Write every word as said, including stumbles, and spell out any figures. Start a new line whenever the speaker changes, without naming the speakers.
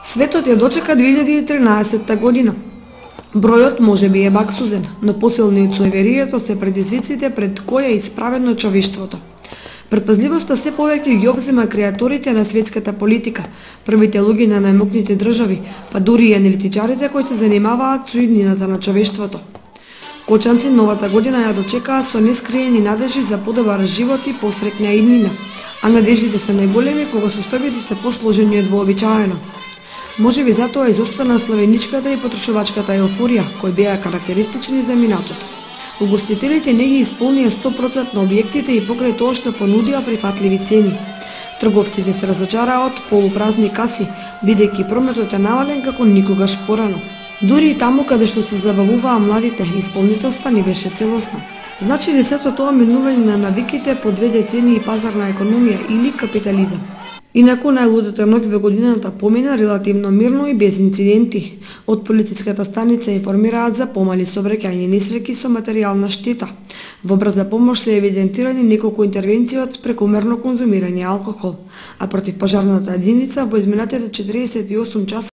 Светот ја дочека две илјади и тринаесетта година. Бројот може би е баксузен, но посилни од суеверието се предизвиците пред кои е исправено човештвото. Предпазливоста се повеќе ги обзема креаторите на светската политика, првите луѓе на најмокните држави, па дури и аналитичарите кои се занимаваат со иднината на човештвото. Кочанци новата година ја дочекаа со нескриени надежи за подобар живот и посреќна иднина, а надеждите се најголеми кога состојбите се посложени од вообичаено. Може би затоа изостана славеничката и потрошувачката еуфорија, кои беа карактеристични за минатото. Угостителите не ги исполнија сто проценти објектите и покрај тоа што понудија прифатливи цени. Трговците се разочараа од полупразни каси, бидејќи прометот е намален како никогаш порано. Дури и таму каде што се забавуваа младите, исполнителноста не беше целосна. Значи ли сето тоа менување на навиките по две децении пазарна економија или капитализам? Инаку најлудата ноќ во годината помина релативно мирно и без инциденти. Од полициската станица информираат за помали сообраќајни несреќи со материјална штета. Во брза помош се евидентирани неколку интервенции од прекумерно конзумирање алкохол, а противпожарната единица во изминатите четириесет и осум часа